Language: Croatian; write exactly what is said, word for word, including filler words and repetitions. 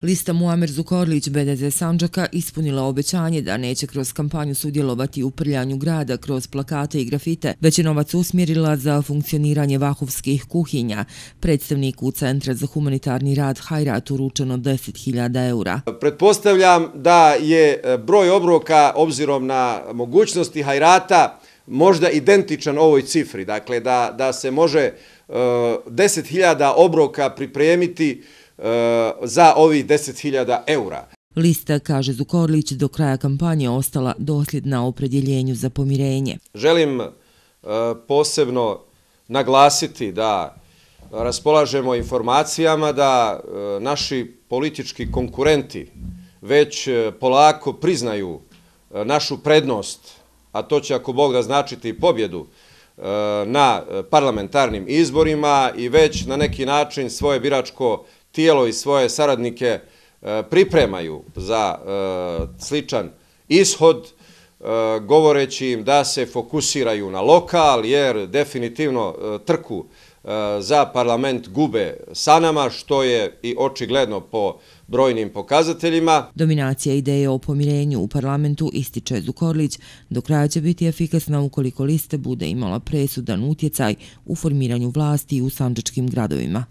Lista Muamer Zukorlić B D Z Sandžaka ispunila obećanje da neće kroz kampanju sudjelovati u prljanju grada kroz plakate i grafite, već je novac usmjerila za funkcioniranje vakufskih kuhinja. Predstavniku Centra za humanitarni rad Hajrat uručeno deset hiljada eura. Pretpostavljam da je broj obroka, obzirom na mogućnosti Hajrata, možda identičan ovoj cifri. Dakle, da, da se može uh, deset hiljada obroka pripremiti uh, za ovih deset hiljada eura. Lista, kaže Zukorlić, do kraja kampanje ostala dosljedna opredjeljenju za pomirenje. Želim uh, posebno naglasiti da raspolažemo informacijama da uh, naši politički konkurenti već uh, polako priznaju uh, našu prednost, a to će ako Bog da značiti i pobjedu na parlamentarnim izborima i već na neki način svoje biračko tijelo i svoje saradnike pripremaju za sličan ishod, govoreći im da se fokusiraju na lokal, jer definitivno trku za parlament gube sa nama, što je i očigledno po brojnim pokazateljima. Dominacija ideje o pomirenju u parlamentu, ističe Zukorlić, do kraja će biti efikasna ukoliko lista bude imala presudan utjecaj u formiranju vlasti u sandžačkim gradovima.